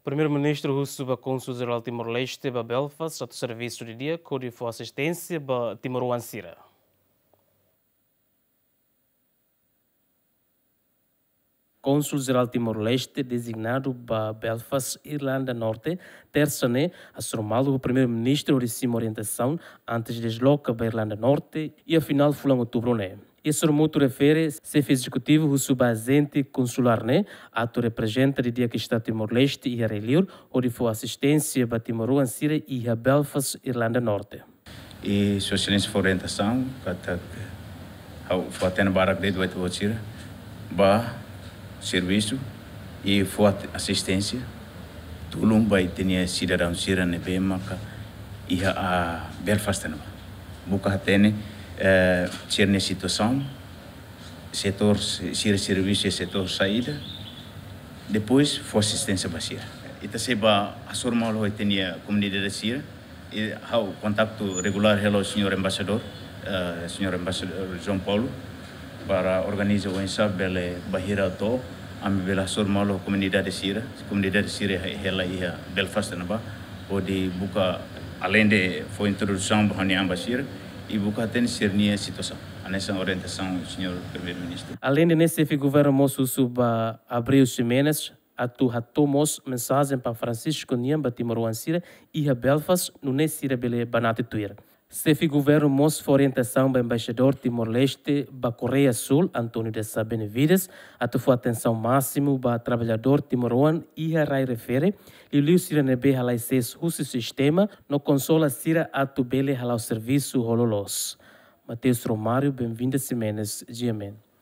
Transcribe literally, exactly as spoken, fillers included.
Primeiru-Ministru husu ba Kónsul Jerál Timor-Leste ba Belfast atu servisu didi'ak hodi fó asisténsia ba timoroan sira. Kónsul Jerál Timor-Leste dezignadu ba Belfast, Irlanda Norte, Tersa ne'e, hasoru malu ho Primeiru-Ministru hodi simu orientasaun antes desloka ba Irlanda Norte iha finál fulan Outubru ne'e. Iha sorumutu refere, Xefe Ezekutivu husu ba ajente konsulár ne'e atu reprezenta didi'ak Estadu Timor-Leste iha rai-liur hodi fó asisténsia ba timoroan sira iha Belfast, Irlanda Norte. I Sua Exelénsia fó orientasaun katak ha'u fó-hatene barak de'it ba ita-boot sira ba servisu i fó asisténsia, tulun ba ita-nia sidadaun sira ne'ebé maka iha Belfast ne'ebá. Buka hatene, eh, sira-nia situasaun, setór, sira servisu iha setór saida, depois fó asisténsia ba sira. Ita sei bá hasoru malu ho ita-nia komunidade sira, i ha'u kontaktu regulár hela ho señór embaixadór, eh, señór embaixadór João Paulo, para organiza oinsá bele bainhira to'o, ami bele hasoru malu ho komunidade sira, komunidade sira hela iha Belfast ne'ebá, hodi buka, aleinde fó introdusaun ba ha'u-nia an ba sira, i buka hatene sira-nia situasaun. Hanesan orientasaun señór Primeiru-Ministru. Aleinde ne'e, Xefe Governu mós husu ba Abreu Ximenes atu hato'o mós mensajen ba Francisco nian ba timoroan sira iha Belfast, nune'e sira bele banati tuir. Xefe Governu mós fó orientasaun ba Embaixadór Timor-Leste ba Koreia Súl, António de Sá Benavides, atu fó atensaun másimu ba traballadór timoroan iha rai refere, liuliu sira ne'ebé halai sees husi sistema, no konsola sira atu bele hala'o servisu ho loloos. Mateus Romário, Benvinda Ximenes, G M N.